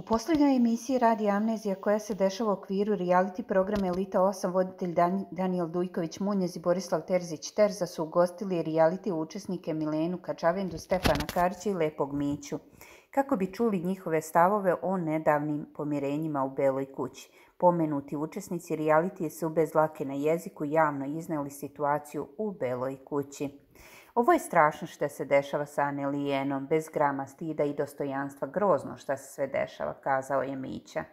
U posljednjoj emisiji Radija Amnezija koja se dešava u okviru reality programa Elita 8 voditelj Danijel Dujković-Munjez i Borislav Terzić-Terza su ugostili reality učesnike Milenu Kačavendu, Stefana Karića i Lepog Miću, kako bi čuli njihove stavove o nedavnim pomirenjima u Beloj kući. Pomenuti učesnici realitije su bez dlake na jeziku javno izneli situaciju u Beloj kući. Ovo je strašno što se dešava sa Annelijenom, bez grama stida i dostojanstva, grozno što se sve dešava, kazao je Mića.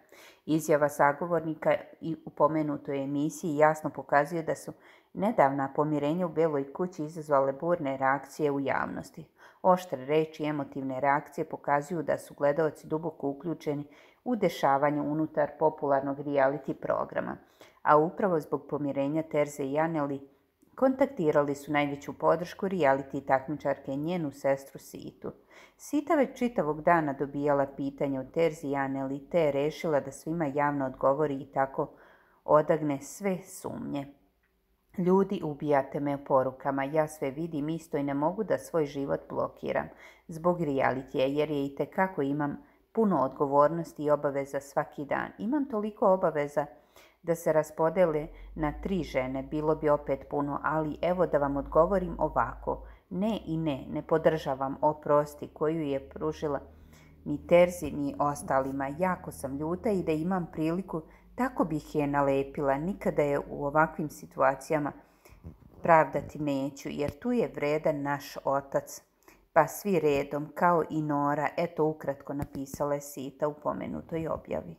Izjava sagovornika i u pomenutoj emisiji jasno pokazuje da su nedavna pomirenja u Beloj kući izazvale burne reakcije u javnosti. Oštre reči i emotivne reakcije pokazuju da su gledaoci duboko uključeni u dešavanje unutar popularnog reality programa, a upravo zbog pomirenja Terze i Anneli kontaktirali su najveću podršku reality takmičarke i njenu sestru Situ. Sita već čitavog dana dobijala pitanja od Terzi i Anneli, te je rešila da svima javno odgovori i tako odagne sve sumnje. Ljudi, ubijate me porukama, ja sve vidim isto i ne mogu da svoj život blokiram zbog realitija, jer je itekako imam puno odgovornosti i obaveza svaki dan. Imam toliko obaveza da se raspodele na 3 žene, bilo bi opet puno, ali evo da vam odgovorim ovako. Ne i ne podržavam oprosti koju je pružila ni Terzi ni ostalima. Jako sam ljuta i da imam priliku, tako bih je nalepila. Nikada je u ovakvim situacijama pravdati neću, jer tu je vredan naš otac. Pa svi redom, kao i Nora, eto ukratko napisala je Sita u pomenutoj objavi.